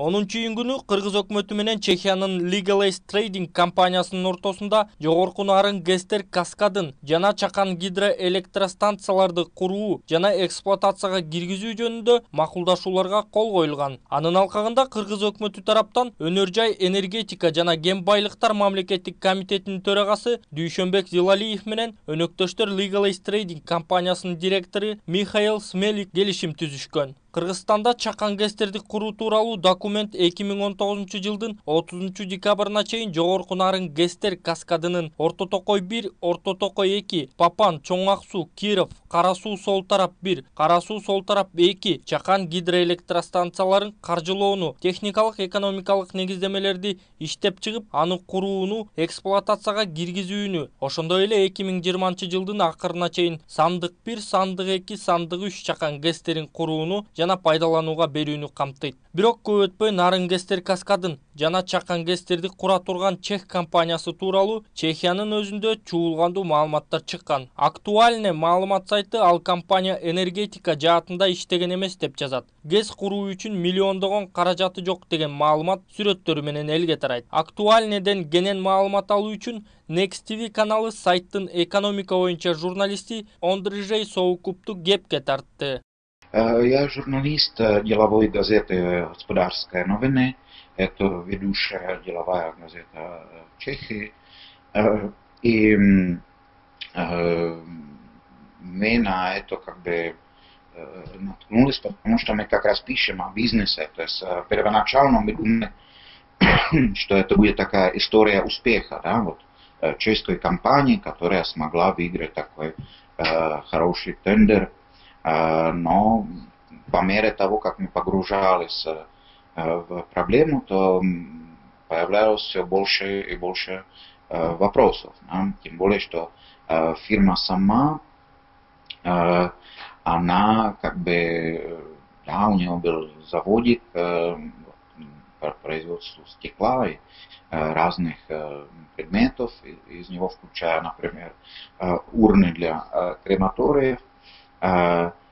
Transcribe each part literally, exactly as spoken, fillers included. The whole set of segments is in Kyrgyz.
онунчу июнь күнү Кыргыз өкмөтү менен Чехиянын Legalize Trading компаниясынын ортосунда жогорку нарын гэстер каскадын жана чакан гидроэлектростанцияларды куруу жана эксплуатацияга киргизүү жөнүндө макулдашууларга кол коюлган. Анын алкагында Кыргыз өкмөтү тараптан Өнөр жай энергетика жана кен байлыктар мамлекеттик комитетинин төрагасы Дүйшөнбек Зилалиев менен өнөктөштөр Legalize Trading компаниясынын директору Михаил Смелик келишим түзүшкөн. Кыргызстанда чакан гэстерди куруу тууралуу документ эки миң он тогузунчу жылдын отузунчу декабрына чейин жогорку нарын гэстер каскадынын Орто Токой бир, Орто Токой эки, Папан, Чоң Ак Суу, Киров, Кара Суу сол тарап бир, Кара Суу сол тарап эки чакан гидроэлектростанцияларын каржылоону, техникалык экономикалык негиздемелерди иштеп чыгып, аны курууну, эксплуатацияга киргизүүнү, ошондой эле эки миң жыйырманчы жылдын акырына чейин сандык бир, сандык эки, сандык үч чакан гэстерин курууну жана пайдаланууга берүүнү камтыйт. Бирок көп өтпөй нарын гэстер каскадын жана чакан гэстерди кура турган чех компаниясы тууралуу Чехиянын өзүндө чуулгандуу маалыматтар чыккан. Актуальный маалымат сайты ал компания энергетика жаатында иштеген эмес деп жазат. ГЭС куруу үчүн миллиондогон каражаты жок деген маалымат сүрөттөрү менен элге тарайт. Актуальныйден кенен маалымат алуу үчүн Next ти ви каналы сайттын экономика боюнча журналисти Ондрижей Соукупту кепке тартты. Я журналист деловой газеты «Господарская новины». Это ведущая деловая газета в Чехии. И мы на это как бы наткнулись, потому что мы как раз пишем о бизнесе. То есть первоначально мы думали, что это будет такая история успеха, да, вот, чешской компании, которая смогла выиграть такой хороший тендер. Но по мере того, как мы погружались в проблему, то появлялось все больше и больше вопросов. Тем более, что фирма сама, она как бы, да, у нее был заводик по производству стекла и разных предметов, из него включая, например, урны для крематориев.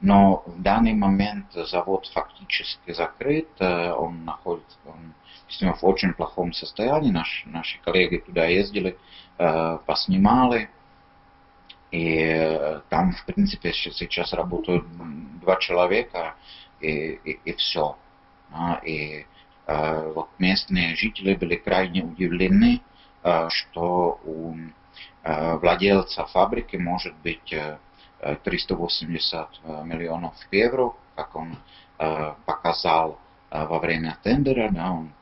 Но в данный момент завод фактически закрыт, он находится он, в очень плохом состоянии. Наш, наши коллеги туда ездили, поснимали, и там, в принципе, сейчас работают два человека, и, и, и все. И вот местные жители были крайне удивлены, что у владельца фабрики может быть триста восемьдесят миллионов евро, как он э, показал э, во время тендера, да, он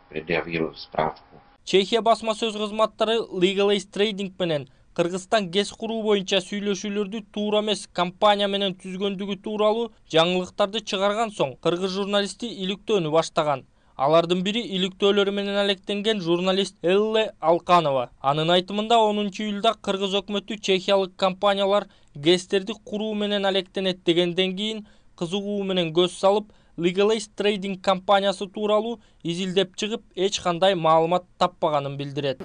предъявил справку. Чехия басма сөз кызматтары Legalize Trading менен Кыргызстан ГЭС куруу боюнча сүйлөшүүлөрдү туура эмес компания менен түзгөндүгү тууралуу жаңылыктарды чыгарган соң кыргыз журналисти иликтөөнү баштаган. Алардын бири иликтөөлөрү менен алектенген журналист Элле Алканова. Анын айтымында онунчу июлда Кыргыз өкмөтү чехиялык компаниялар гэстерди куруу менен алектенет дегенден кийин кызыгуу менен көз салып, Legalize Trading компаниясы тууралуу изилдеп чыгып, эч кандай маалымат таппаганын билдирет.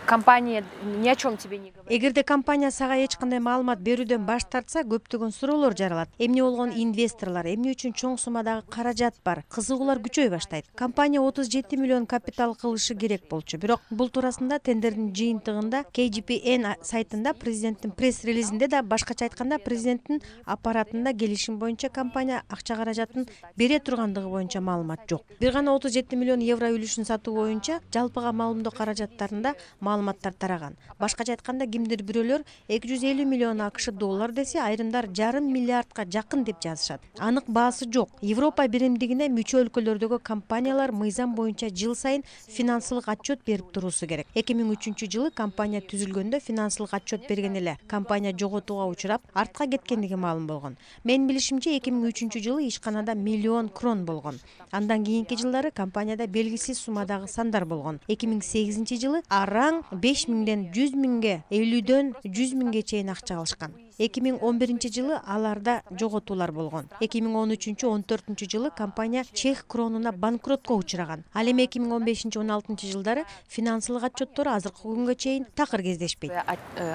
Компания ни о чем тебе не говорит. Эгерде компания сага эч кандай маалымат берүүдөн баш тартса, көптөгөн суроолор жаралат. Эмне болгон инвесторлор, эмне үчүн чоң суммадагы каражат бар? Кызыгуулар күчөй баштайт. Компания отуз жети миллион капитал кылышы керек болчу. Бирок бул туурасында тендердин жыйынтыгында кей джи пи эн сайтында президенттин пресс-релизинде да, башкача айтканда, президенттин аппаратында келишим боюнча компания акча каражатын бере тургандыгы боюнча маалымат жок. Бир гана отуз жети миллион евро үлүшүн сатуу боюнча жалпыга маалымдоо каражаттарында маалыматтар тараган. Башкача айтканда, кимдир бирөөлөр эки жүз элүү миллион акш доллар десе, айрымдар жарым миллиардка жакын деп жазышат. Анык баасы жок. Европа биримдигине мүчө өлкөлөрдөгү компаниялар мыйзам боюнча жыл сайын финансылык отчет берип туруусу керек. эки миң үчүнчү жылы компания түзүлгөндө финансылык отчет берген эле. Компания жоготууга учурап, артка кеткендиги маалым болгон. Менин билишимче, эки миң үчүнчү жылы ишканада миллион крон болгон. Андан кийинки жылдары компанияда белгисиз суммадагы сандар болгон. эки миң сегизинчи жылы араң тең беш миңден жүз миңге, элүүдөн жүз миңге чейин акча алышкан. эки миң он биринчи жылы аларда жоготуулар болгон. эки миң он үчүнчү он төртүнчү жылы компания чех кронуна банкротко учураган. Ал эми эки миң он бешинчи он алтынчы жылдары финансылык отчеттору азыркы күнгө чейин такыр кездешпейт.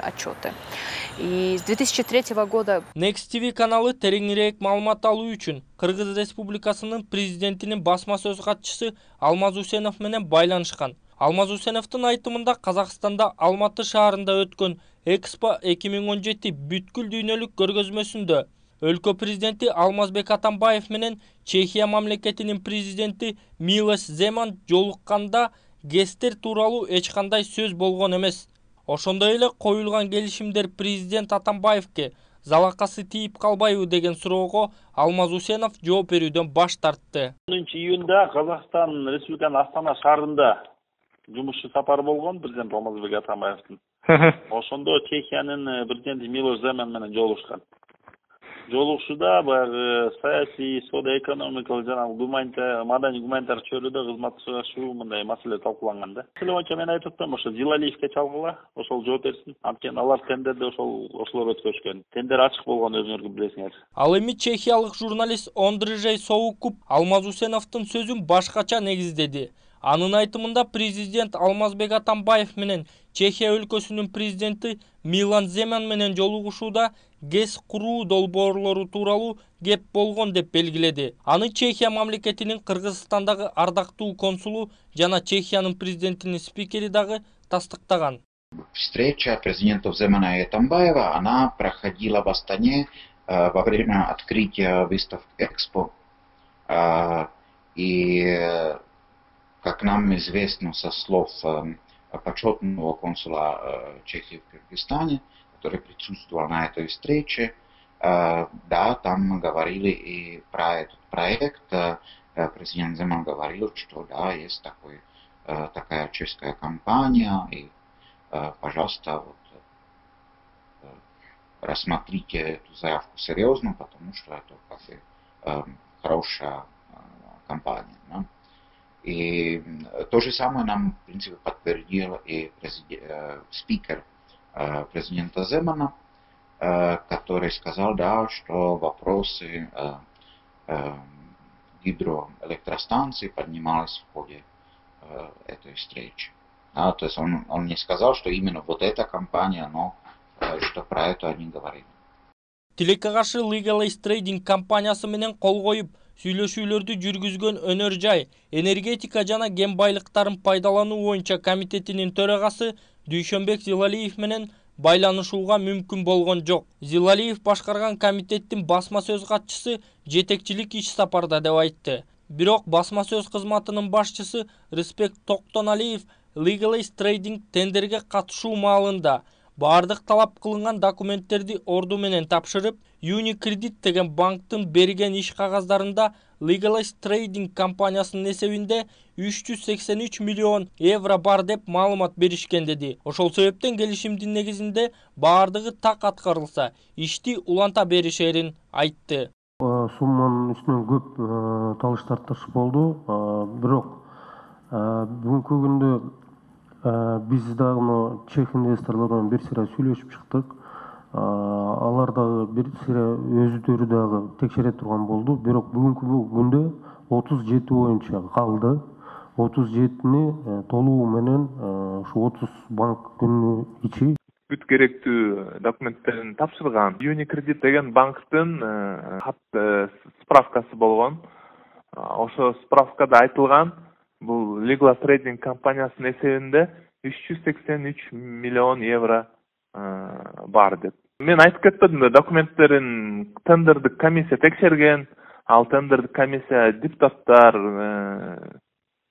Отчеты. И с две тысячи третьего года Next ти ви каналы тереңирээк маалымат алуу үчүн Кыргыз Республикасынын президентинин басма сөз катчысы Алмаз Усенов менен байланышкан. Алмаз Усеновдун айтымында Казакстанда Алматы шаарында өткөн Экспо эки миң он жети бүткүл дүйнөлүк көргөзмөсүндө өлкө президенти Алмазбек Атамбаев менен Чехия мамлекетинин президенти Милош Земан жолукканда ГЭСтер тууралуу эч кандай сөз болгон эмес. Ошондой эле коюлган келишимдер президент Атамбаевке залакасы тийип калбайбы деген суроого Алмаз Усенов жооп берүүдөн баш тартты. онунчу июнда Казакстан Республиканын Астана шаарында жумушчу сапар болгон президент Алмазбек Атамбаевдин. Ошондо Чехиянын президенти Милош Земан менен жолугушкан. Жолугушууда баягы саясий, соода-экономикалык жана гуманитар, маданий гуманитар чөйрөдө кызматташуу мындай маселе талкууланган да. Маселе боюнча мен айтып атам, ошо Зилалиевке чалгыла, ошол жооп берсин. Анткени алар тендерде ошол ошолор өткөзгөн. Тендер ачык болгон өзүңөр билесиңер. Ал эми чехиялык журналист Ондрежей Соукуп Алмаз Усеновдун сөзүн башкача негиздеди. Анын айтымында президент Алмазбек Атамбаев менен Чехия өлкөсүнүн президенти Милош Земан менен жолугушууда ГЭС куруу долбоорлору тууралуу кеп болгон деп белгиледи. Аны Чехия мамлекетинин Кыргызстандагы ардактуу консулу жана Чехиянын президентинин спикери дагы тастыктаган. Встреча президентов Земана и Атамбаева, она проходила в Астане э, во время открытия выставки Экспо. Э, и как нам известно со слов э, почетного консула э, Чехии в Кыргызстане, который присутствовал на этой встрече, э, да, там говорили и про этот проект. Э, президент Земан говорил, что да, есть такой, э, такая чешская компания, и, э, пожалуйста, вот, э, рассмотрите эту заявку серьезно, потому что это как бы, э, хорошая э, компания. Да? И то же самое нам, в принципе, подтвердил и э, спикер э, президента Земана, э, который сказал, да, что вопросы э, э, гидроэлектростанций поднимались в ходе э, этой встречи. Да, то есть он, он не сказал, что именно вот эта компания, но э, что про это они говорили. Тилекке каршы Legalize Trading компаниясы менен кол коюп сүйлөшүүлөрдү жүргүзгөн Өнөр Жай энергетика жана кен байлыктарын пайдалануу боюнча комитетинин төрагасы Дүйшөнбек Зилалиев менен байланышууга мүмкүн болгон жок. Зилалиев башкарган комитеттин басма сөз катчысы жетекчилик иш сапарда деп айтты. Бирок басма сөз кызматынын башчысы Респект Токтоналиев Legalize Trading тендерге катышуу маалында бардык талап кылынган документтерди орду менен тапшырып, Unicredit деген банктын берген иш кагаздарында Legalize Trading компаниясынын эсебинде үч жүз сексен үч миллион евро бар деп маалымат беришкен деди. Ошол себептен келишимдин негизинде бардыгы так аткарылса, ишти уланта беришерин айтты. Сумманын үстүнөн көп талыш тартыш болду, бирок бүгүнкү күндө биз дагы чех инвесторлор менен бир сыйра сүйлөшүп чыктык. Алар дагы бир сыйра өзүдөрү дагы текшере турган болду. Бирок бүгүнкү күндө отуз жети боюнча калды. отуз жетини толугу менен ушу отуз банк күнү ичи бүт керектүү документтерин тапшырган. Unicredit деген банктын кат справкасы болгон. Ошо справкада айтылган бул Legalize Trading компаниясынын эсебинде үч жүз сексен үч миллион евро бар деп. Мен айтып кетпедим да, документтерин тендердик комиссия текшерген, ал тендердик комиссия депутаттар,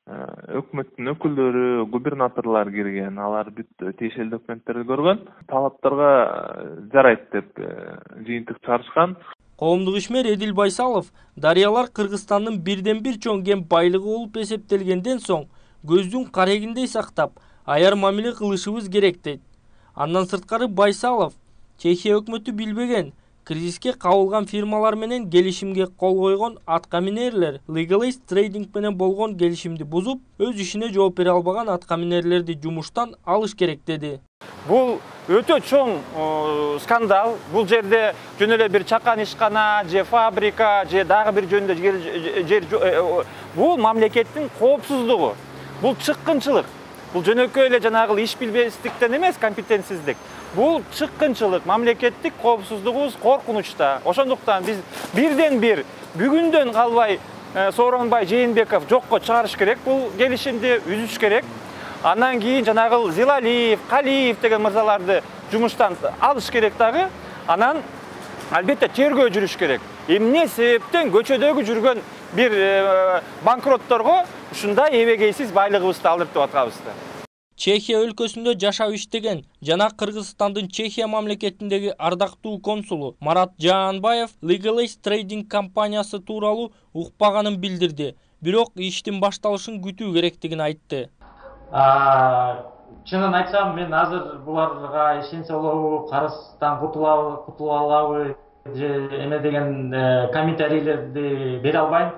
өкмөттүн өкүлдөрү, губернаторлор кирген, алар бүт тиешелүү документтерди көргөн, талаптарга жарайт деп жыйынтык чыгарышкан. Коомдук ишмер Эдил Байсалов дарыялар Кыргызстандын бирден бир чоң кен байлыгы болуп эсептелгенден соң көздүн карегиндей сактап, аяр мамиле кылышыбыз керек дейт. Андан сырткары Байсалов Чехия өкмөтү билбеген Кризиске кабылган фирмалар менен келишимге кол койгон аткаминерлер Legalist Trading менен болгон келишимди бузуп, өз ишине жооп бере албаган аткаминерлерди жумуштан алыш керек деди. Бул өтө чоң скандал. Бул жерде жөн эле бир чакан ишкана же фабрика же дагы бир жөнүндө жер бул мамлекеттин коопсуздугу. Бул чыккынчылык. Бул жөнөкөй эле жанагы иш билбестиктен эмес, компетенсиздик. Бул чыккынчылык, мамлекеттик коопсуздугубуз коркунучта. Ошондуктан биз бирден бир бүгүндөн калбай Сооронбай Жээнбеков жокко чыгарыш керек, бул келишимди үзүш керек. Андан кийин жанагы Зилалиев, Калиев деген мырзаларды жумуштан алыш керек дагы. Анан албетте тергөө жүрүш керек. Эмне себептен көчөдөгү жүргөн бир банкротторго ушундай эбегейсиз байлыгыбызды алдыртып атканбыз. Чехия өлкөсүндө жашап иштеген жана Кыргызстандын Чехия мамлекетиндеги ардактуу консулу Марат Жаанбаев Legalist Trading компаниясы тууралуу укпаганын билдирди. Бирок иштин башталышын күтүү керектигин айтты. Чынын айтсам, мен азыр буларга ишенсе болобу, карыздан кутула алабы же эме деген комментарийлерди бере албайм.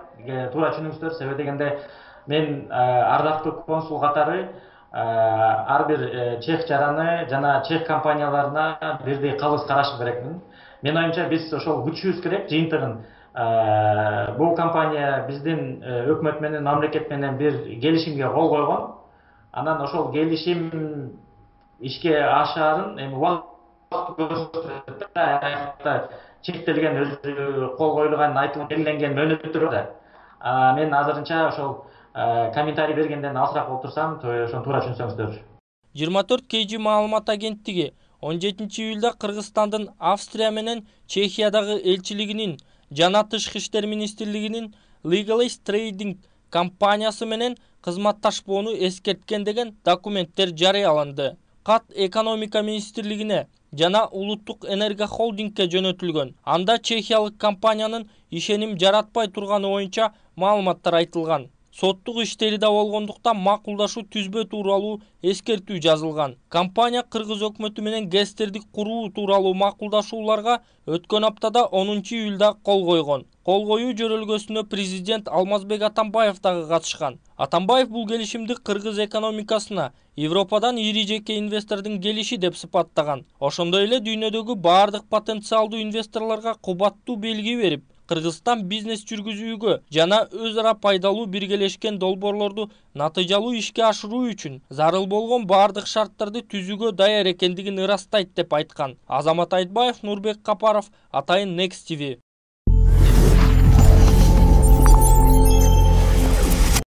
Туура түшүнүңүздөр, себеби дегенде мен ардактуу консул катары ар бир чех жараны жана чех компанияларына бирдей калыс карашы керекмин. Мен оюмча биз ошол күтүшүбүз керек жыйынтыгын. Бул компания биздин өкмөт менен, мамлекет менен бир келишимге кол койгон. Анан ошол келишим ишке ашаарын эми убакыт көрсөтөт да, аякта чектелген өзү кол коюлган, айтылып белгиленген мөөнөттөр бар. Мен азырынча ошол комментарий бергенден алысыраак болуп турсам, ошону туура түшүнсөңүздөр. жыйырма төрт кей жи маалымат агенттиги он жетинчи июлда Кыргызстандын Австрия менен Чехиядагы элчилигинин жана Тышкы иштер министрлигинин Legalist Trading компаниясы менен кызматташпоону эскерткен деген документтер жарыяланды. Кат экономика министрлигине жана улуттук энерго холдингке жөнөтүлгөн. Анда чехиялык компаниянын ишеним жаратпай турганы боюнча маалыматтар айтылган. Соттук иштери да болгондуктан макулдашуу түзбө тууралуу эскертүү жазылган. Компания Кыргыз өкмөтү менен ГЭСтерди куруу тууралуу макулдашууларга өткөн аптада онунчу июлда кол койгон. Кол коюу жөрөлгөсүнө президент Алмазбек Атамбаев дагы катышкан. Атамбаев бул келишимди кыргыз экономикасына Европадан ири жеке инвестордун келиши деп сыпаттаган. Ошондой эле дүйнөдөгү бардык потенциалдуу инвесторлорго кубаттуу белги берип, Кыргызстан бизнес жүргүзүүгө жана өз ара пайдалуу биргелешкен долбоорлорду натыйжалуу ишке ашыруу үчүн зарыл болгон бардык шарттарды түзүүгө даяр экендигин ырастайт деп айткан. Азамат Айтбаев, Нурбек Капаров, Атайын Next ти ви.